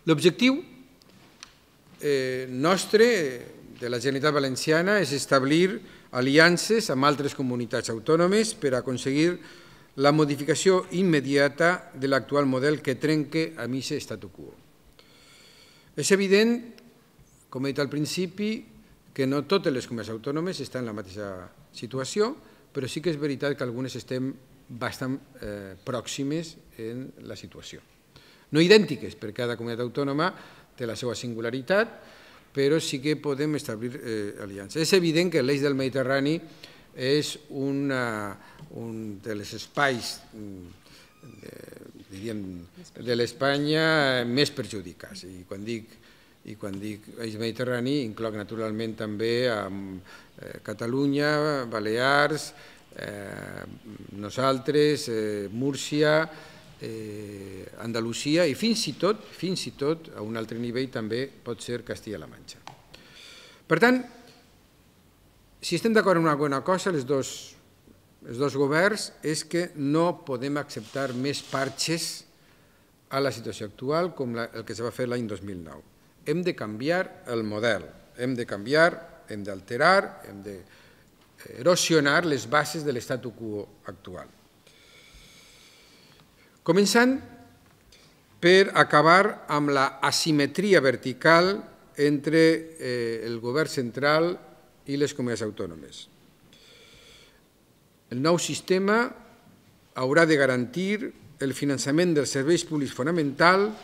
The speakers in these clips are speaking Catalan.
L'objectiu nostre, de la Generalitat Valenciana, és establir aliances amb altres comunitats autònomes per aconseguir la modificació immediata de l'actual model que trenca amb aquest statu quo. És evident, com he dit al principi, que no totes les comunitats autònomes estan en la mateixa situació, però sí que és veritat que algunes estem bastant pròximes en la situació. No idèntiques, perquè cada comunitat autònoma té la seva singularitat, però sí que podem establir aliances. És evident que l'eix del Mediterrani és un dels espais de l'Espanya més perjudicats. I quan dic eix mediterrani incloc naturalment també Catalunya, Balears, nosaltres, Múrcia, Andalusia i fins i tot, a un altre nivell també pot ser Castilla-La Manxa. Per tant, si estem d'acord en una bona cosa, els dos governs, és que no podem acceptar més parxes a la situació actual com el que es va fer l'any 2009. Hem de canviar el model, hem de canviar, hem d'alterar, hem d'erosionar les bases de l'estatu quo actual. Començant per acabar amb l'asimetria vertical entre el govern central i les comunitats autònomes. El nou sistema haurà de garantir el finançament dels serveis públics fonamentals,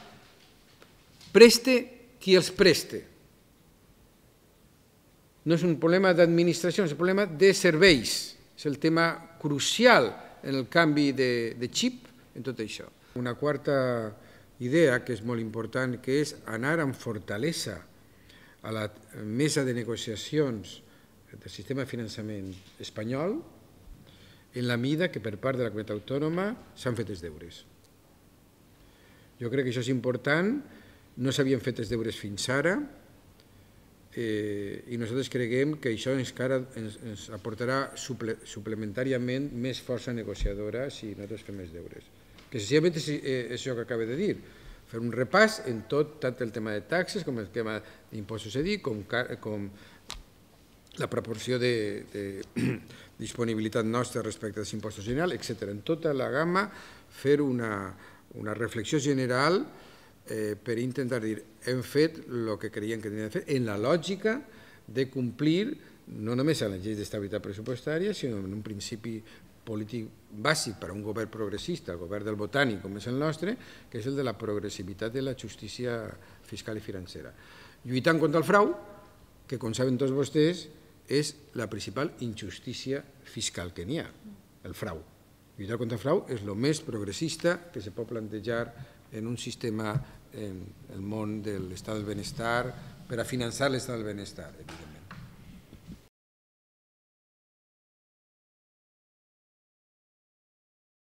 preste qui els preste. No és un problema d'administració, és un problema de serveis. És el tema crucial en el canvi de xip en tot això. Una quarta idea que és molt important, que és anar amb fortalesa a la mesa de negociacions del sistema de finançament espanyol en la mida que per part de la comunitat autònoma s'han fet els deures. Jo crec que això és important, no s'havien fet els deures fins ara i nosaltres creiem que això ens aportarà suplementàriament més força negociadora si nosaltres fem els deures. Que senzillament és això que acabo de dir, fer un repàs en tot, tant el tema de taxes com el tema d'impostos cedits, com la proporció de disponibilitat nostra respecte als impostos generals, etc. En tota la gamma, fer una reflexió general per intentar dir hem fet el que creiem que teníem de fer en la lògica de complir no només a la llei d'estabilitat pressupostària, sinó en un principi polític bàsic per a un govern progressista, el govern del botànic com és el nostre, que és el de la progressivitat de la justícia fiscal i financera. Lluitant contra el frau, que com saben tots vostès és la principal injustícia fiscal que n'hi ha, el frau. Lluitar contra el frau és el més progressista que se pot plantejar en un sistema, en el món de l'estat del benestar, per a finançar l'estat del benestar, evidentment.